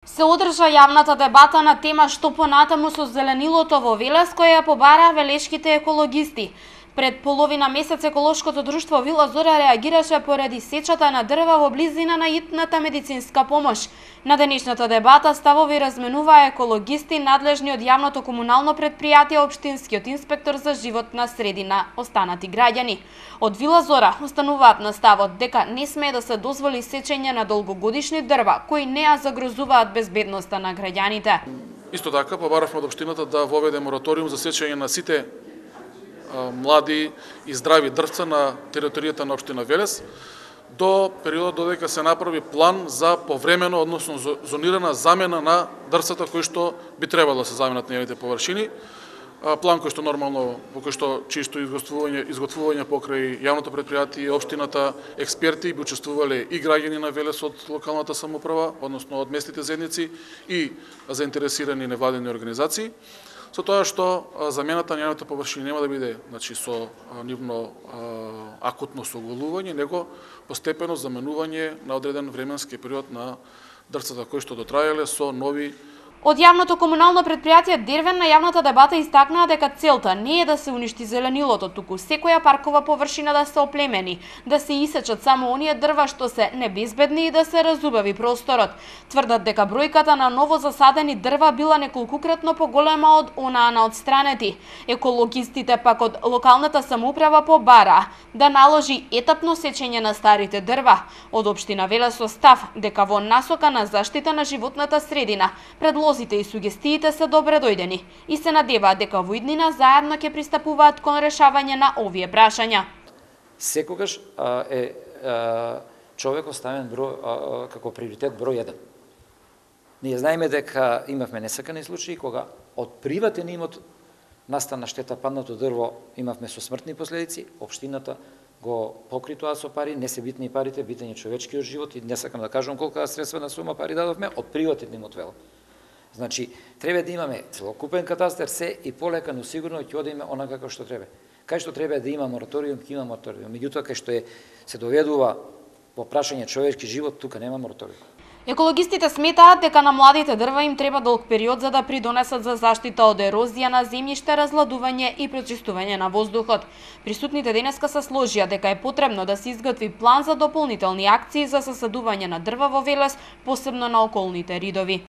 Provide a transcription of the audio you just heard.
Се одржа јавната дебата на тема што понатаму со зеленилото во Велес, која ја побара велешките екологисти. Пред половина месец еколошкото друштво Вила Зора реагираше поради сечата на дрва во близина на итната медицинска помош. На денешната дебата ставови разменуваа екологисти надлежни од јавното комунално предпријатие општинскиот инспектор за животна средина, останати граѓани. Од Вила Зора остануваат на ставот дека не смее да се дозволи сечење на долгогодишни дрва кои не ја загрозуваат безбедноста на граѓаните. Исто така побаравме од општината да воведе мораториум за сечење на сите млади и здрави дрвца на територијата на општина Велес до периодот додека се направи план за повремено, односно зонирана замена на дрвцата кои што би требало да се заменат на нивните површини. План кој што нормално, по кој што чисто изготвување покрај јавното предпријатие, општината, експерти би учествувале и граѓани на Велес од локалната самоуправа, односно од местните заедници и заинтересирани невладени организации. Со тоа што замената на нивните површини нема да биде со нивно акутно соголување, него постепено заменување на одреден временски период на дрвцата кои што дотраеле со нови. Од јавното комунално предпријатие Дервен на јавната дебата истакнаа дека целта не е да се уништи зеленилото, туку секоја паркова површина да се оплемени, да се исечат само оние дрва што се небезбедни и да се разубави просторот. Тврдат дека бројката на ново засадени дрва била неколкукратно поголема од онаа на отстранети. Екологистите пак од локалната самоуправа побара да наложи етапно сечење на старите дрва. Од општина Велес со став дека во насока на заштита на животната средина предлозите и сугестиите се добре дојдени и се надеваат дека во иднина заедно ќе пристапуваат кон решавање на овие прашања. Секогаш е човекот ставен како приоритет број 1. Ние знаеме дека имавме несакани случаи кога од приватен имот настана штета, паднато дрво, имавме со смртни последици, општината го покри тоа со пари, не се битни парите, битен е човечкиот живот и не сакам да кажам колку средствена сума пари дадовме од приватен имот велам. Значи, треба да имаме целокупен катастар, се и полека, но сигурно ќе одиме онака како што треба. Кај што треба да има мораториум, ќе има мораториум. Меѓутоа, кај што се доведува во прашање човечки живот, тука нема мораториум. Екологистите сметаат дека на младите дрва им треба долг период за да придонесат за заштита од ерозија на земјиште, разладување и прочистување на воздухот. Присутните денеска се сложија дека е потребно да се изготви план за дополнителни акции за засадување на дрва во Велес, посебно на околните ридови.